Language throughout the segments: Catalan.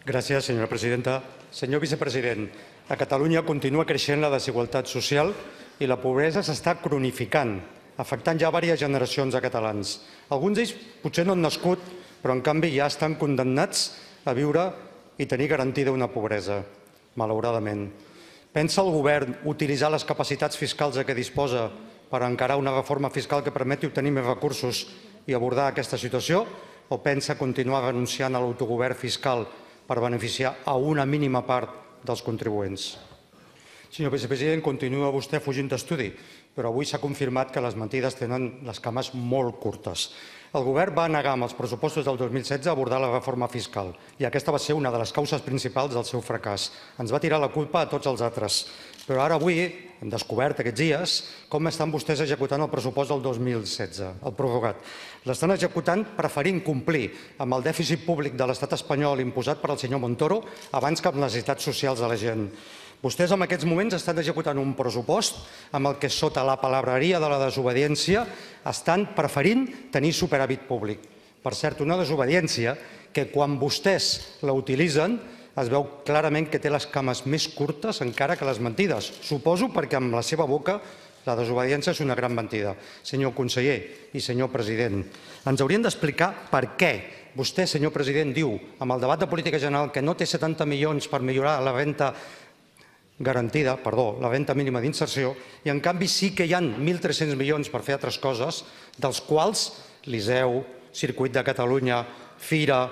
Gràcies, senyora presidenta. Senyor vicepresident, a Catalunya continua creixent la desigualtat social i la pobresa s'està cronificant, afectant ja diverses generacions de catalans. Alguns d'ells potser no han nascut, però en canvi ja estan condemnats a viure i tenir garantida una pobresa, malauradament. Pensa el govern utilitzar les capacitats fiscals de què disposa per encarar una reforma fiscal que permeti obtenir més recursos i abordar aquesta situació, o pensa continuar renunciant a l'autogovern fiscal per beneficiar a una mínima part dels contribuents? Senyor vicepresident, continua vostè fugint d'estudi, però avui s'ha confirmat que les mentides tenen les cames molt curtes. El govern va negar amb els pressupostos del 2016 abordar la reforma fiscal i aquesta va ser una de les causes principals del seu fracàs. Ens va tirar la culpa a tots els altres. Però ara avui hem descobert aquests dies com estan vostès executant el pressupost del 2016, el prorrogat. L'estan executant preferint complir amb el dèficit públic de l'estat espanyol imposat per el senyor Montoro abans que amb les necessitats socials de la gent. Vostès en aquests moments estan executant un pressupost amb el que sota la palabreria de la desobediència estan preferint tenir superàvit públic. Per cert, una desobediència que quan vostès la utilitzen es veu clarament que té les cames més curtes encara que les mentides. Suposo perquè amb la seva boca la desobediència és una gran mentida. Senyor conseller i senyor president, ens haurien d'explicar per què vostè, senyor president, diu amb el debat de política general que no té 70 milions per millorar la renta garantida, la renta mínima d'inserció, i en canvi sí que hi ha 1.300 milions per fer altres coses, dels quals Liceu, Circuit de Catalunya, Fira,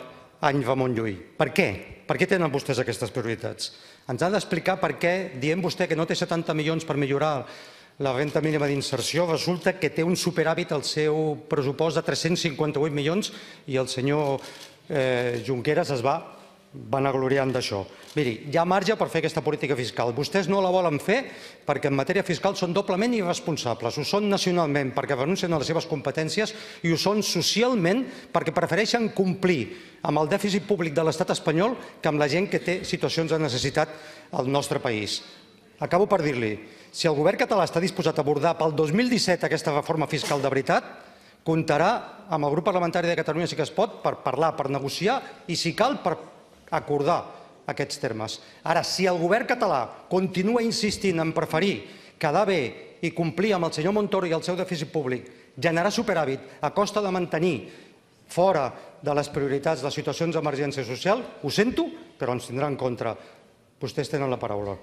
Any Ramon Llull. Per què? Per què tenen vostès aquestes prioritats? Ens ha d'explicar per què, dient vostè que no té 70 milions per millorar la renta mínima d'inserció, resulta que té un superàvit al seu pressupost de 358 milions i el senyor Junqueras es va vanagloriant d'això. Miri, hi ha marge per fer aquesta política fiscal. Vostès no la volen fer perquè en matèria fiscal són doblement irresponsables. Ho són nacionalment perquè renuncien a les seves competències i ho són socialment perquè prefereixen complir amb el dèficit públic de l'estat espanyol que amb la gent que té situacions de necessitat al nostre país. Acabo per dir-li, si el govern català està disposat a abordar pel 2017 aquesta reforma fiscal de veritat, comptarà amb el grup parlamentari de Catalunya Sí que es pot per parlar, per negociar i, si cal, per acordar aquests termes. Ara, si el govern català continua insistint en preferir quedar bé i complir amb el senyor Montoro i el seu dèficit públic, generar superàvit a costa de mantenir fora de les prioritats les situacions d'emergència social, ho sento, però ens tindrà en contra. Vostès tenen la paraula.